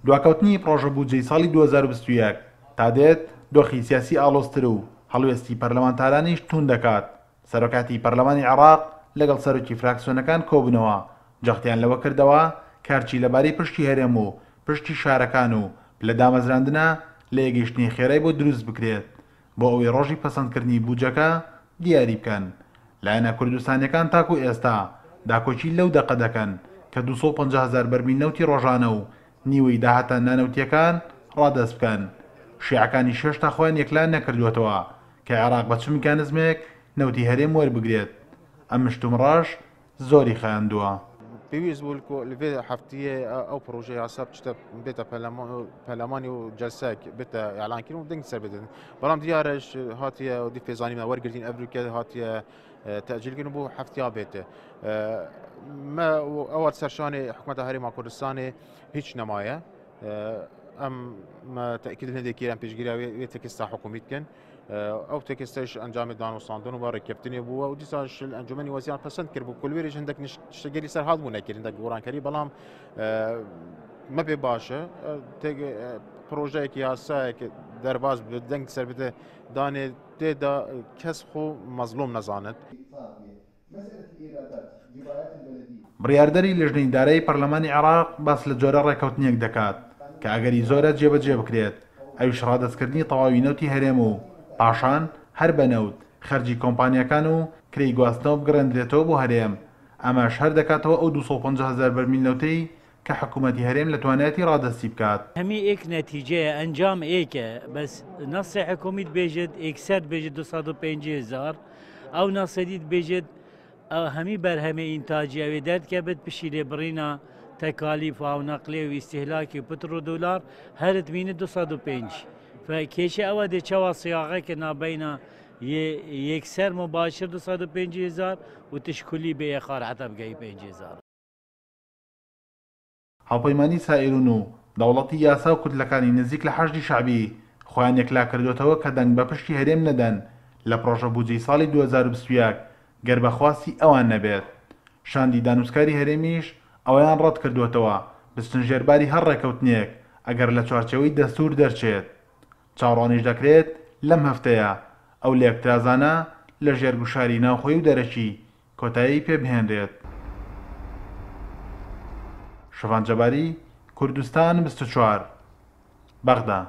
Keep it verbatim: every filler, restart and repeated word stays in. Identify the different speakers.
Speaker 1: دواکەوتنی پرۆژە بودجەی ساڵی دوو هەزار و بیست و یەک تا دێت دۆخی سیاسی ئاڵۆزتر و هەڵوێستی پەرلەمانتارانیش توند دەکات. سەرۆکاتی پەرلەمانی عێراق لەگەڵ سەرۆکی فراکسیۆنەکان کۆبوونەوە، جەختیان لەوە کردەوە کارچی لەبارەی پشتی هەرێم و پشتی شارەکان و پلە دامەزراندنە لە یەکگەیشتنی خێرای بۆ دروست بکرێت بۆ ئەوەی ڕۆژی پەسەندکردنی بودجەکە دیاری بکەن. لایەنە کوردستانیەکان تاکو ئێستا داکۆکی لەو دەقە دەکەن کە دوو سەد و پەنجا هەزار بەرمیل نەوتی ڕۆژانە و نیوەی داهاتە نانەوتیەکان ڕادەست بکەن. شیعەکانی هێشتا خۆیان یەکلا نەکردووەتەوە کە عێراق بە چ میکانزمێک نەوتی هەرێم وەربگرێت. ئەم مشتومڕەش زۆری خایاندووە.
Speaker 2: پێویست بوو لەوێ هەفتەیە ئەو پرۆژەی یاسا بچتە بێتە پەرلەمانی و جەلسەک بێتە ئیعلانکردن و دەنگ سەر بدەن. بەڵام دیارەش هاتیە و دی پێزانیمە وەرگرتین ئەڤریکە هاتیە تەئجیلکردن بۆ هەفتیا بێتە. مە ئەوە سەرشانی حکومەتە هەرێما کوردستانی هیچ نەمایە. ئەم تەئکید هەندێکی ئێران پێشگیرا وێ تێکستا حکومی بکەن. ئەو تێکستەش ئەنجامی دانوساندن و ڕێککەوتنی بووە و دیسانش ئەنجومەنی وەزیران پەسەند کرد بوو. کولوێریش هەندێک شتگەری سەر هات بوو نەکرد، هەندێک گۆڕانکاری، بەڵام مە پێ باشە پرۆژەیەکی یاسایەک دەرباز دەنگ سەر بدە دانێ تێدا کەس خۆ مەزلوم نەزانێت.
Speaker 1: بڕیاردەری لژنەی دارایی پەرلەمانی عێراق باس لە جۆرە ڕێککەوتنێک دەکات کە ئەگەری زۆرە جێبەجێ بکرێت، ئەویش ڕادەستکردنی تەواوی نەوتی هەرێم و پاشان هەر بە نەوت خەرجی کۆمپانیاکان و کرێی گواستنەوە بگەڕێندرێتەوە بۆ هەرێم. ئەمەش هەر دەکاتەوە ئەو دوو سەد و پەنجا هەزار بەرمیل نەوتەی کە حکوومەتی هەرێم لە توانایەتی ڕادەستی بکات.
Speaker 3: هەمی ئێک نەتیجەیە ئەنجام ئێکە، بەس نەسی حکومیت بێژێت ئێکسەر بێژێت دوو سەد و پەنجا هەزار، ئەو نەسەدیت بێژێت هەمی بەرهەمێ ئینتاجی ئەوێ دەردکەبێت پشی لێبڕینە تەکالیف و نەقلێ و ئیستیهلاکی و پتر و دۆلار هەرت مینە دوو سەد و پێنج. کێشە ئەوە دێچەوە سیاغەکە نابینە یەکسەر مباشر دوو سەد و پێنج هەزار و تشکلی بێ یەخار حتا بگەی پێنج هەزار.
Speaker 1: هاوپەیمانی سائیرون و دەوڵەتی یاسا و کوتلەکانی نزیک لە حەشدی شەعبی خۆیان یەکلا کردوێتەوە کە دەنگ بە پشتی هەرێم نەدەن لە پرۆژە بودجەی ساڵی دوو هەزار و بیست و یەک گەر بەخواستی ئەوان نەبێت. شاندی دانوسکاری هەرێمیش ئەوەیان ڕەت کردوێتەوە بچنە ژێرباری هەر ڕێکەوتنێک ئەگەر لە چوارچێوەی دەستور دەرچێت. چاوەڕوانیش دەکرێت لەم هەفتەیە ئەو لێکترازانە لە ژێرگوشاری ناوخۆی و دەرەکی کۆتایی پێبهێنرێت. شەڤان جەباری، کوردستان بیست و چوار، بەغدا.